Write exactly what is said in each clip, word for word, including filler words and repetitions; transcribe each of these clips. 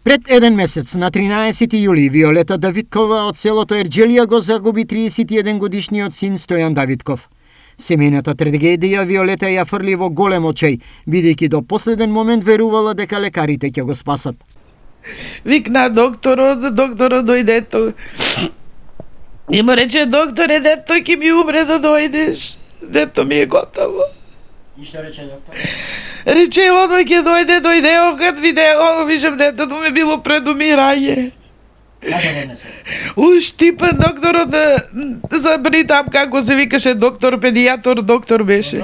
Пред еден месец, на тринаесети јули, Виолета Давидкова од селото Ерџелија го загуби триесет и еден годишниот син Стојан Давидков. Семејната трагедија Виолета ја фрли во голем очај, бидејќи до последен момент верувала дека лекарите ќе го спасат. Викна докторот, докторот дојде. И му рече, докторе, дето ќе ми умре да дојдеш. Дето ми е готово. И што рече доктор? Рече, одма ќе дојде, дојде, кад видео, вижам детето ме било пред умирање. Како го несе? Уштипен докторот, забри там како се викаше доктор, педијатор, доктор беше.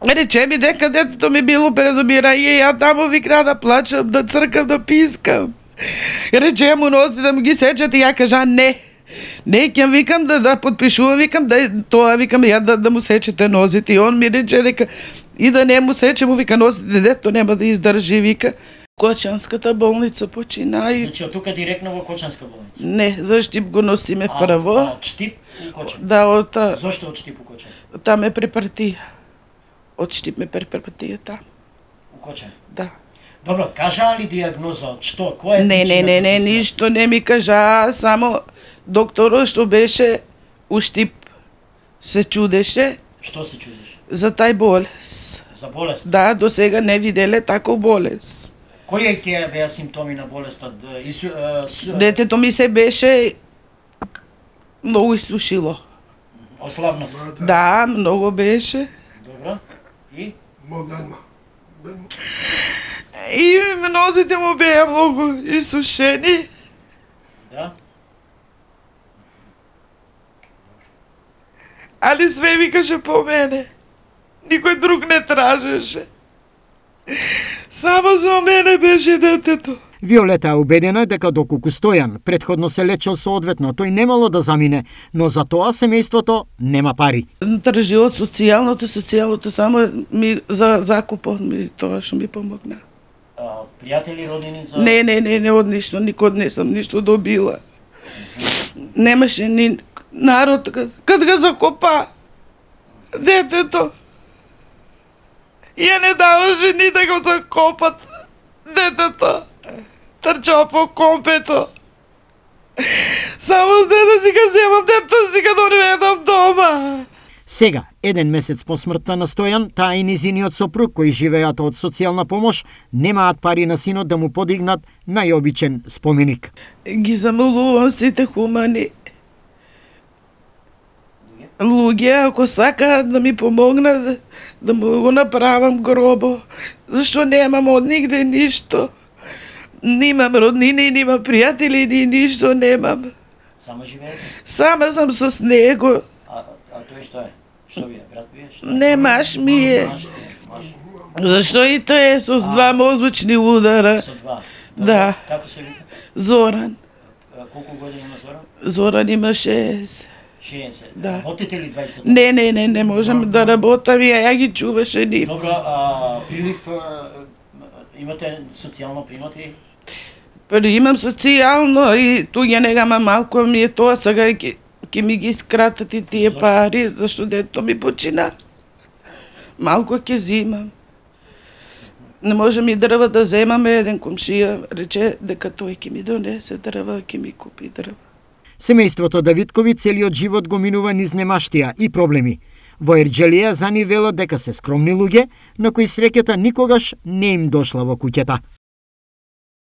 Рече ми дека детето ми било пред умирање, ја таму викна да плачам, да цркам, да пискам. Рече му носи да му ги сечат и ја кажа не. Не, ќе викам да да подпишувам, викам да тоа, викам ја да, да му сечете нозите. И он ми рече дека и да не му сече, му вика нозите, дето нема да издржи, вика. Кочанската болница почина и... Значи, од тука директно во Кочанска болница? Не, за Штип го носиме прво. А, од Штип у Кочан? Да, од... Зошто од Штип у Кочан? Там е препартија. Од Штип ме препартија там. У Кочан? Да. Добро, кажа ли диагноза? Што? Кој е? Не, не, не, не, ништо не ми кажа, само докторот што беше у Штип се чудеше. Што се чудеше? За тај болест. За болест? Да, до сега не виделе тако болест. Кои е ќе беа симптоми на болестот? Ису, а, с... Детето ми се беше многу исушило. Ослабно? Да, многу беше. Добро. И? Модерно. И нозите му беа многу исушени. Да. Али све викаше по мене. Никој друг не тражеше. Само за мене беше детето. Виолета е убедена дека доколку Стојан претходно се лечел соодветно, тој немало да замине, но за тоа семејството нема пари. Тржи од социјалното, социјалното само ми за закупот ми тоа што ми помогна. А, пријатели, роднини за... Не, не, не, не од ништо, никод не сам ништо добила. Немаше ни народ, кад го закопа детето, ја не даваше ни да го закопат детето. Трчава по компето. Само да си го земам, детето си го донедам дома. Сега, еден месец по смртта на Стојан, таа и низиниот сопруг, кои живеат од социјална помош, немаат пари на синот да му подигнат најобичен споменик. Ги замолувам сите хумани луѓе, ако сакаат да ми помогнат, да, да му го направам гробо, зашто немам од нигде ништо. Немам роднини, немам пријатели, ни ништо немам. Само живеете? Сама сам со него. А, а тој што е? Што ви е? Брат ви е? Што? Не, маш ми е. Маш, маш. Зашто и тој е со два мозочни удара. Со два? Да. Како се вика? Зоран. А, колку години има Зоран? Зоран има шест. шеесет. Да. Работите ли двајцата? Не, не, не, не можам да работам, ја, ја ги чуваше ни. Добро, а прилив, а, имате социјално примати? Имам социјално и туѓа негама малку ми е тоа, сега ќе ќе ми ги скратат и тие пари, зашто дето ми почина. Малку ќе зимам. Не можам и дрва да земаме, еден комшија рече дека тој ќе ми донесе дрва, ќе ми купи дрва. Семејството Давидкови целиот живот го минува низ немаштија и проблеми. Во Ерџелија за нив велат дека се скромни луѓе, на кои среќата никогаш не им дошла во куќата.